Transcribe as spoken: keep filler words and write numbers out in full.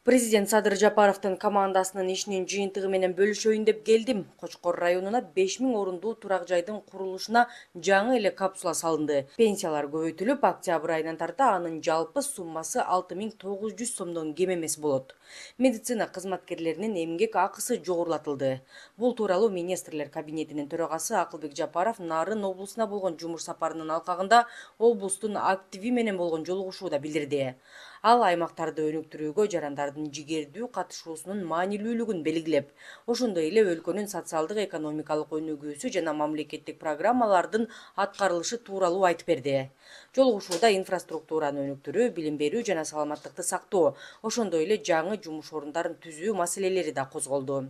Президент Садыр Жапаровдун командасынын ишинин жыйынтыгы менен бөлүшөйүн деп келдим. Кочкор районуна беш миң орундуу турак жайдын курулушуна жаңы эле капсула салынды. Пенсиялар көбөйтүлүп, октябрь айынан тарта анын жалпы суммасы алты миң тогуз жүз сомдон кем эмес болот. Медицина кызматкерлеринин эмгек акысы жогорулатылды. Бул тууралуу министрлер кабинетинин төрагасы Акылбек Жапаров Нарын облусуна болгон жумуш сапарынын алкагында облустун активи менен болгон жолугушууда билдирди. Ал аймактарды өнүктүрүүгө жарандардын жигердүү катышуусунун маанилүүлүгүн белгилеп, ошондой эле өлкөнүн социалдык экономикалык өнүгүүсү жана мамлекеттик программалардын аткарылышы тууралуу айтып берди. Жолугушууда инфраструктураны өнүктүрүү, билим берүү жана саламаттыкты сактоо, ошондой эле жаңы жумуш орундарын түзүү маселелери да козголду.